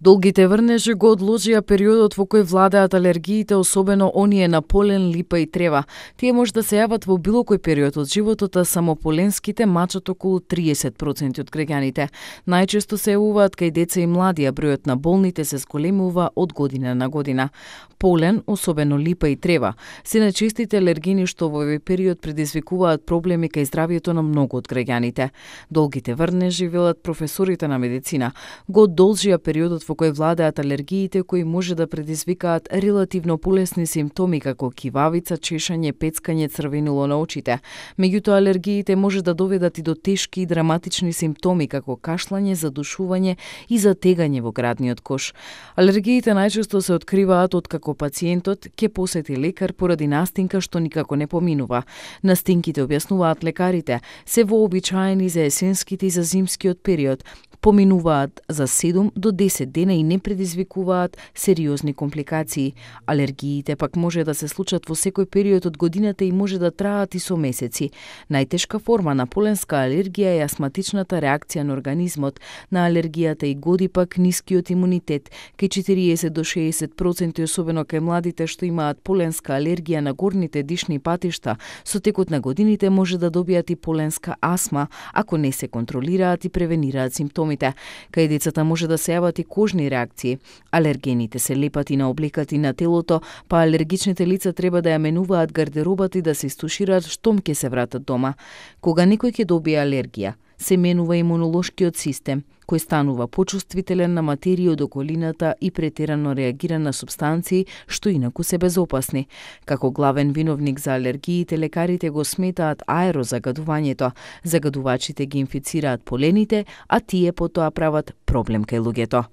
Долгите врнежи го одложија периодот во кој владеат алергиите, особено оние на полен, липа и трева. Тие може да се јават во било кој период од животот, а само поленските мачат околу 30% од граѓаните. Најчесто се јавуваат кај деца и млади, а бројот на болните се зголемува од година на година. Полен, особено липа и трева, се најчестите алергени што во овој период предизвикуваат проблеми кај здравјето на многу од граѓаните. Долгите врнежи, велат професорите на медицина, го одолжија периодот во кој владеат алергиите кои може да предизвикаат релативно полесни симптоми како кивавица, чешање, пецкање, црвенило на очите. Меѓутоа алергиите може да доведат и до тешки и драматични симптоми како кашлање, задушување и затегање во градниот кош. Алергиите најчесто се откриваат откако пациентот ќе посети лекар поради настинка што никако не поминува. Настинките, објаснуваат лекарите, се вообичаени за есенските и за зимскиот период, поминуваат за 7 до 10 дена и не предизвикуваат сериозни компликации. Алергиите пак може да се случат во секој период од годината и може да траат и со месеци. Најтешка форма на поленска алергија е астматичната реакција на организмот на алергијата и годи пак нискиот имунитет. Кај 40 до 60%, особено кај младите што имаат поленска алергија на горните дишни патишта, со текот на годините може да добијат и поленска астма, ако не се контролираат и превенираат симптоми. Кај децата може да се јават и кожни реакции. Алергените се лепат и на облекат и на телото, па алергичните лица треба да ја менуваат гардеробата и да се истушираат штом ќе се вратат дома. Кога некој ќе добие алергија, се менува имунолошкиот систем, кој станува почувствителен на материја од околината и претерано реагира на супстанции што инаку се безопасни. Како главен виновник за алергиите, лекарите го сметаат аерозагадувањето. Загадувачите ги инфицираат полените, а тие потоа прават проблем кај луѓето.